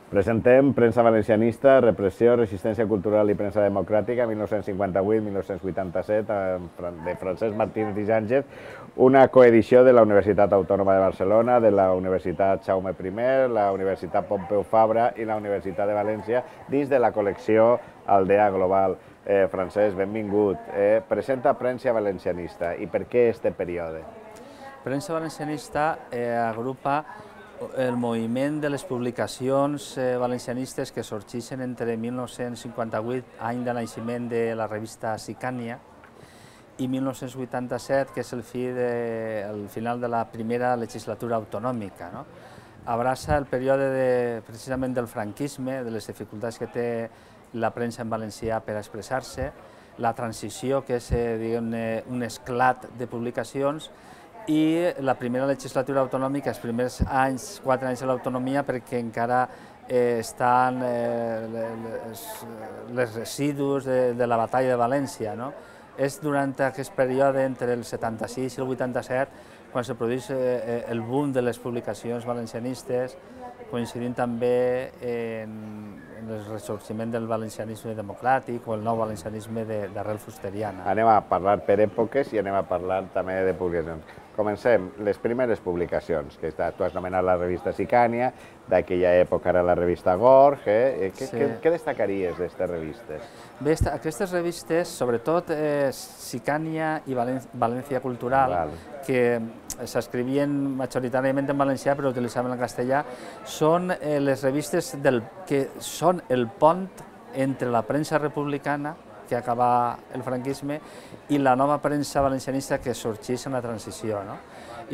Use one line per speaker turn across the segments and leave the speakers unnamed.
Presentem Premsa Valencianista, Repressió, Resistència Cultural i Premsa Democràtica, 1958-1987, de Francesc Martínez i Sánchez, una coedició de la Universitat Autònoma de Barcelona, de la Universitat Jaume I, la Universitat Pompeu Fabra i la Universitat de València, dins de la col·lecció Aldea Global. Francesc, benvingut. Presenta Premsa Valencianista. I per què este període?
Premsa Valencianista agrupa el moviment de les publicacions valencianistes que sorgeixen entre 1958, any de naixement de la revista Sicània, i 1987, que és el final de la primera legislatura autonòmica. Abraça el període precisament del franquisme, de les dificultats que té la premsa en valencià per expressar-se, la transició, que és un esclat de publicacions, i la primera legislatura autonòmica, els primers 4 anys de l'autonomia, perquè encara estan els residus de la batalla de València. És durant aquest període, entre el 76 i el 87, quan se produeix el boom de les publicacions valencianistes, coincidint també en el ressorgiment del valencianisme democràtic o el nou valencianisme d'arrel fusteriana.
Anem a parlar per èpoques i anem a parlar també de publicacions. Comencem, les primeres publicacions, que tu has anomenat la revista Sicània, d'aquella època era la revista Gorg. Què destacaries d'aquestes revistes?
Bé, aquestes revistes, sobretot Sicània i València Cultural, que s'escrivien majoritàriament en valencià però utilitzaven el castellà, són les revistes que són el pont entre la premsa republicana, que acaba el franquisme, i la nova premsa valencianista que sorgeix en la transició.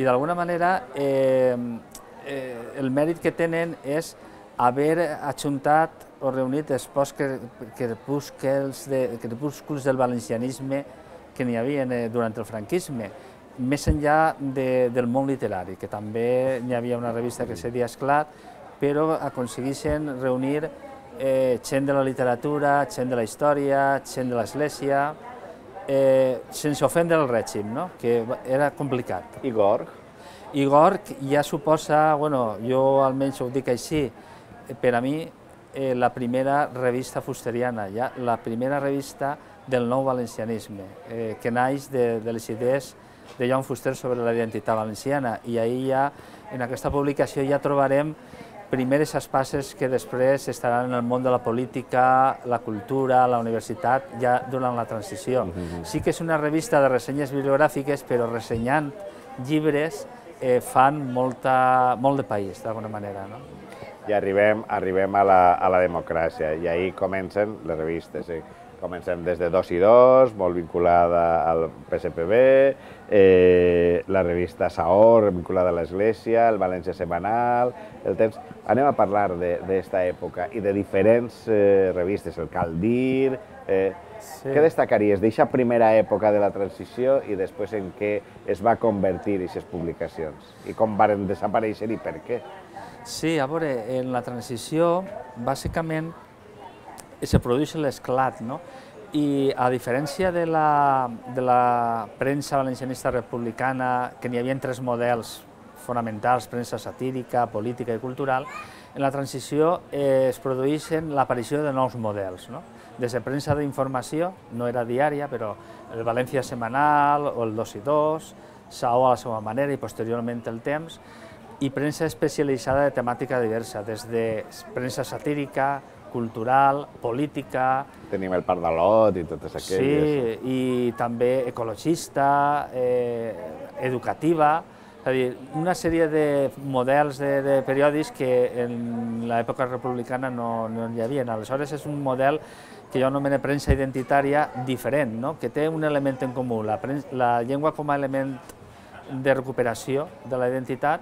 I d'alguna manera el mèrit que tenen és haver ajuntat o reunit els crepúsculs del valencianisme que n'hi havia durant el franquisme, més enllà del món literari, que també n'hi havia una revista que se deia Esclat, però aconsegueixen reunir gent de la literatura, gent de la història, gent de l'església, sense ofendre el règim, que era complicat.
I Gorg?
I Gorg ja suposa, jo almenys ho dic així, per a mi la primera revista fusteriana, la primera revista del nou valencianisme, que naix de les idees de Joan Fuster sobre la identitat valenciana, i ahir en aquesta publicació ja trobarem primeres espases que després estaran en el món de la política, la cultura, la universitat, ja durant la transició. Sí que és una revista de ressenyes bibliogràfiques, però ressenyant llibres fan molt de país, d'alguna manera.
I arribem a la democràcia, i ahir comencen les revistes. Comencem des de 2 i 2, molt vinculada al PSPB, la revista Saor, vinculada a l'Església, el València Setmanal, el Temps. Anem a parlar d'esta època i de diferents revistes, el Cal Dir. Què destacaries d'aquesta primera època de la transició i després en què es va convertir aquestes publicacions? I com van desaparèixer i per què?
Sí, a veure, en la transició, bàsicament, se produeix l'esclat, i a diferència de la premsa valencianista republicana, que n'hi havia 3 models fonamentals, premsa satírica, política i cultural, en la transició es produeixen l'aparició de nous models, des de premsa d'informació, no era diària, però el València Setmanal o el 2 i 2, Saó a la seva manera i posteriorment el Temps, i premsa especialitzada de temàtica diversa, des de premsa satírica, cultural, política...
Tenim el Pardalot i totes aquelles.
Sí, i també ecologista, educativa, és a dir, una sèrie de models de periòdics que en l'època republicana no hi havia. Aleshores és un model que jo anomeno premsa identitària diferent, que té un element en comú, la llengua com a element de recuperació de la identitat,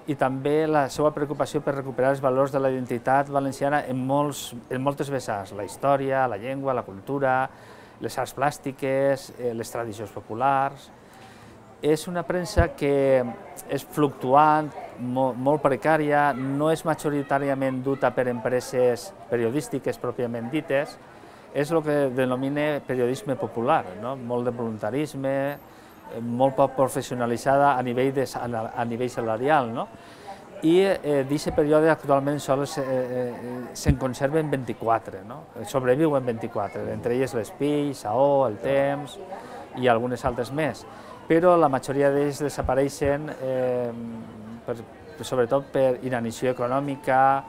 i també la seva preocupació per recuperar els valors de la identitat valenciana en moltes vessants, la història, la llengua, la cultura, les arts plàstiques, les tradicions populars. És una premsa que és fluctuant, molt precària, no és majoritàriament duta per empreses periodístiques pròpiament dites, és el que denomina periodisme popular, molt de voluntarisme, molt poc professionalitzada a nivell salarial. i d'aquest període actualment sols se'n conserven 24, no? Sobreviuen 24, entre elles l'Espill, Saó, el Temps i algunes altres més, però la majoria d'ells desapareixen sobretot per inanició econòmica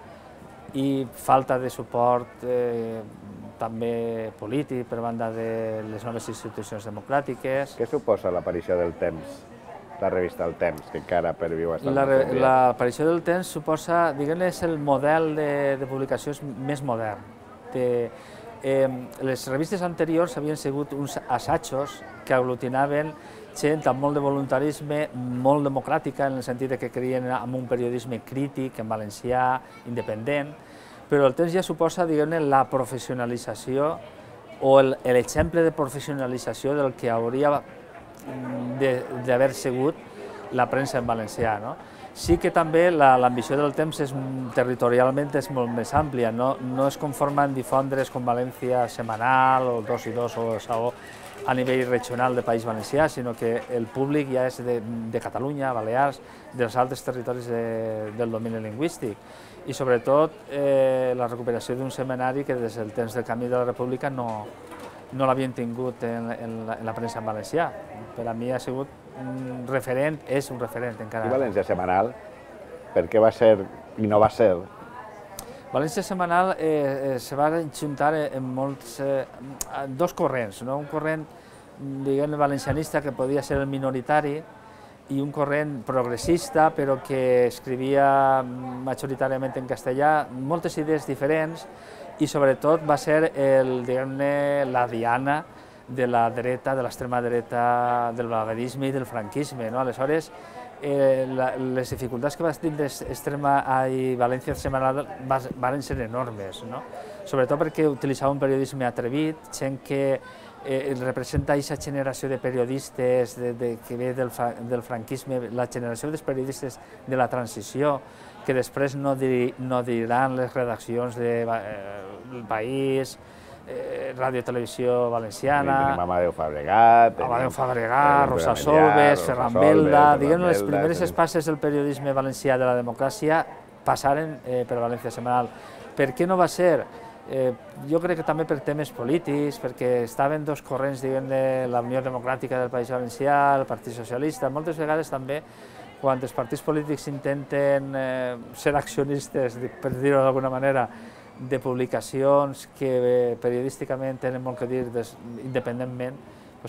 i falta de suport també polític per banda de les noves institucions democràtiques.
Què suposa l'aparició del Temps, la revista El Temps, que encara perviu fins al nostre dia?
L'aparició del Temps suposa, diguem-ne, és el model de publicació més modern. Les revistes anteriors havien sigut uns assajos que aglutinaven gent amb molt de voluntarisme, molt democràtica, en el sentit que creien en un periodisme crític, en valencià, independent, però el Temps ja suposa, diguem-ne, la professionalització o l'exemple de professionalització del que hauria d'haver sigut la premsa en valencià. Sí que també l'ambició del Temps territorialment és molt més àmplia, no es conforma en difondre's com València Setmanal o 2 i 2 o Saó a nivell regional de País Valencià, sinó que el públic ja és de Catalunya, Balears, dels altres territoris del domini lingüístic. I sobretot la recuperació d'un setmanari que des del temps del Camí de la República no l'havien tingut en la premsa en valencià. Per a mi ha sigut un referent, és un referent encara.
I València Setmanal, per què va ser i no va ser?
València Setmanal se va juntar en dos corrents, un corrent diguem valencianista que podia ser el minoritari i un corrent progressista però que escrivia majoritàriament en castellà, moltes idees diferents i sobretot va ser la diana de la dreta, de l'extrema dreta, del blaverisme i del franquisme. Aleshores, les dificultats que va tindre València Setmanal van ser enormes, sobretot perquè utilitzava un periodisme atrevit, gent que representa aquesta generació de periodistes que ve del franquisme, la generació dels periodistes de la transició, que després no diran les redaccions del País, Ràdio Televisió Valenciana...
Tenim Amadeu Fabregat...
Rosa Solves, Ferran Belda... Diguem, les primeres espases del periodisme valencià de la democràcia passaren per València Setmanal. Per què no va ser? Jo crec que també per temes polítics, perquè estaven dos corrents, diguem, de la Unió Democràtica del País Valencià, el Partit Socialista. Moltes vegades també, quan els partits polítics intenten ser accionistes, per dir-ho d'alguna manera, de publicacions que periodísticament tenen molt que dir independentment,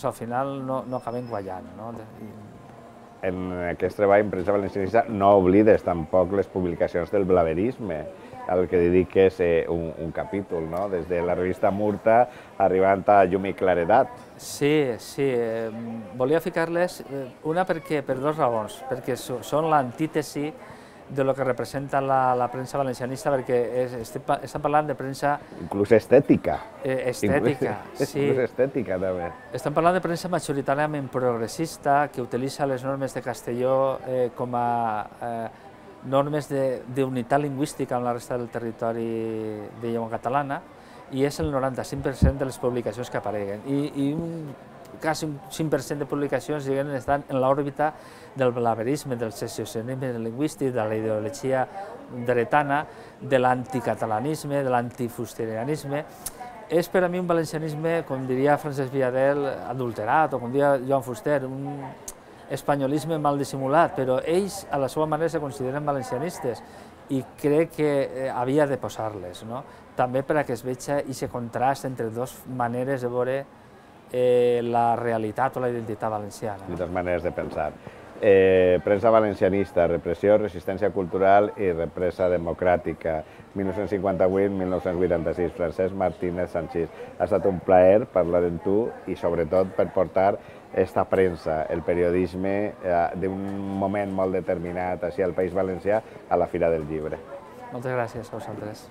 al final no acaben guanyant.
En aquest treball en premsa valencianista no oblides tampoc les publicacions del blaverisme, al que dediques un capítol, des de la revista Murta arribant a Llum i Claredat.
Sí, volia ficar-les, una per dues raons, perquè són l'antítesi de lo que representa la premsa valencianista, perquè estem parlant de premsa...
Inclús estètica.
Estètica, sí.
Inclús estètica, també.
Estem parlant de premsa majoritàriament progressista, que utilitza les normes de Castelló com a normes d'unitat lingüística amb la resta del territori de llengua catalana, i és el 95% de les publicacions que apareguen. I quasi un 5% de publicacions estan en l'òrbita del blaverisme, del secessionisme lingüístic, de la ideologia dretana, de l'anticatalanisme, de l'antifusterianisme. És per a mi un valencianisme, com diria Francesc Villadel, adulterat, o com diria Joan Fuster, un espanyolisme mal dissimulat, però ells a la seva manera se consideren valencianistes i crec que havia de posar-les, també perquè es veig aquest contrast entre dues maneres de veure la realitat o la identitat valenciana.
Dues maneres de pensar. Premsa valencianista, repressió, resistència cultural i represa democràtica, 1958-1986, Francesc Martínez Sanchís. Ha estat un plaer parlar amb tu i sobretot per portar esta premsa, el periodisme d'un moment molt determinat així al País Valencià a la Fira del Llibre.
Moltes gràcies a vosaltres.